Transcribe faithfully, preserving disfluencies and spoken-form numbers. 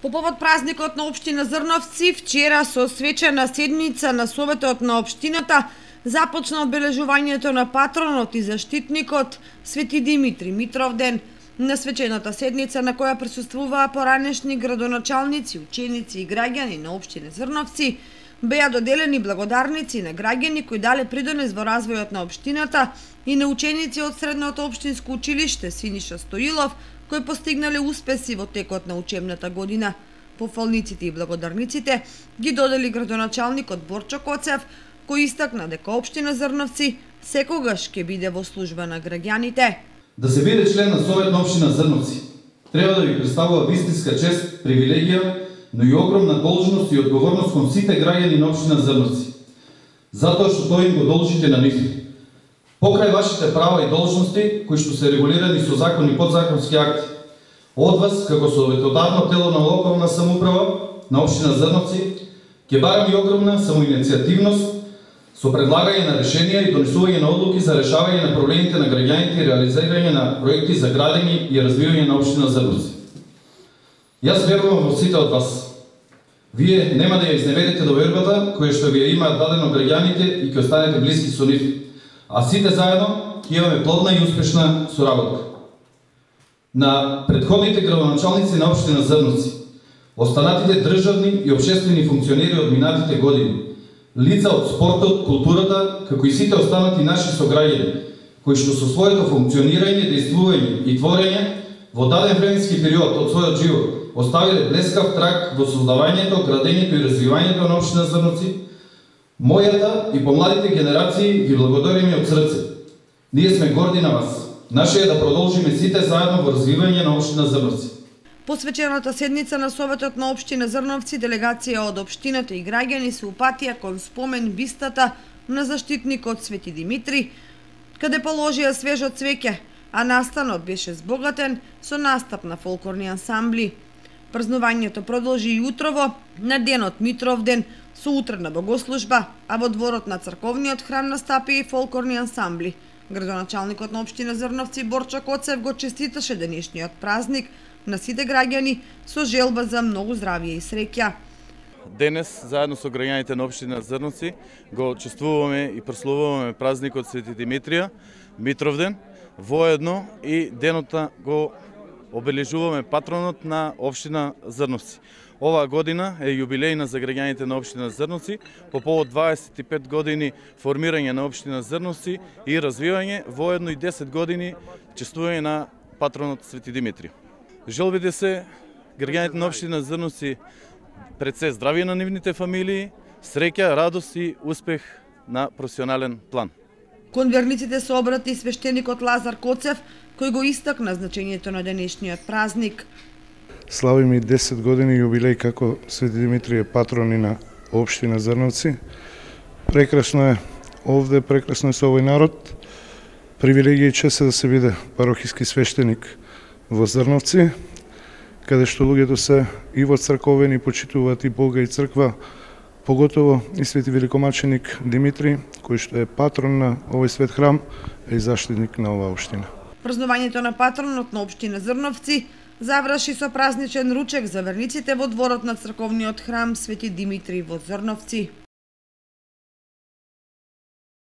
По повод празникот на општина Зрновци, вчера со свечена седница на Советот на општината започна одбележувањето на патронот и заштитникот Свети Димитри Митровден. На свечената седница на која присуствуваа поранешни градоначалници, ученици и граѓани на општина Зрновци, беа доделени благодарници на граѓани кои дале придонес во развојот на општината и на ученици од Средното општинско училиште Синиша Стоилов, кои постигнале успеси во текот на учебната година. Пофалниците и благодарниците ги додели градоначалникот Борчо Коцев, кој истакна дека општина Зрновци секогаш ќе биде во служба на граѓаните. Да се биде член на Совет на општина Зрновци треба да ви представува вистинска чест, привилегија, но и огромна должност и одговорност кон сите граѓани на општина Зрновци, затоа што тоа им го должите на нив. Покрај вашите права и должности, кои што се регулирани со закон и подзаконски акти, од вас, како советодавно тело на локална самоуправа на општина Зрновци, ќе барам и огромна самоиницијативност со предлагање на решенија и донесување на одлуки за решавање на проблемите на граѓаните и реализирање на проекти за градење и развивање на општина Зрновци. Јас верувам во сите од вас. Вие нема да ја изневерите довербата која што ви ја имаат дадено граѓаните и ќе останете блиски со нив, а сите заедно ќе имаме плодна и успешна соработка. На предходните градоначалници на општина Зрновци, останатите државни и општествени функционери од минатите години, лица од спортот, културата, како и сите останати наши сограѓани, кои што со своето функционирање, действување и творење во даден временски период од својот живот оставиле блескав траг во создавањето, градењето и развивањето на општина Зрновци, мојата и помладите генерации ви благодариме од срце. Ние сме горди на вас. Наше е да продолжиме сите заедно во развивање на општина Зрновци. Посвечената седница на Советот на општина Зрновци, делегација од општината и граѓани се упатија кон спомен бистата на заштитникот Свети Димитри, каде положија свежо цвеќе, а настанот беше збогатен со настап на фолклорни ансамбли. Празнувањето продолжи и утрово на денот Митровден со утрена богослужба, а во дворот на црковниот храм настапија и фолклорни ансамбли. Градоначалникот на општина Зрновци Борчо Коцев го честиташе денешниот празник на сите граѓани со желба за многу здравје и среќа. Денес, заедно со граѓаните на општина Зрновци, го чествуваме и прославуваме празникот Свети Димитрија Митровден, воедно и денота го обележуваме патронот на општина Зрновци. Оваа година е јубилејна за граѓаните на општина Зрновци по повод дваесет и пет години формирање на општина Зрновци и развивање, воедно и десет години чествување на патронот Свети Димитри. Желбите се граѓаните на општина Зрновци пред се здравје на нивните фамилии, среќа, радост и успех на професионален план. Кон верниците се обрати свештеникот Лазар Коцев, кој го истакна значењето на денешниот празник. Славиме и десет години јубилеј како Свети Димитри е патрон и на општина Зрновци. Прекрасно е овде, прекрасно е со овој народ. Привилегија и чест е да се биде парохиски свештеник во Зрновци, каде што луѓето се и во црковени почитуваат и Бога и црква, поготово и Свети великомаченик Димитри, кој што е патрон на овој свет храм и заштитник на оваа општина. Празнувањето на патронот на општина Зрновци заврши со празничен ручек за верниците во дворот на црковниот храм Свети Димитри во Зрновци.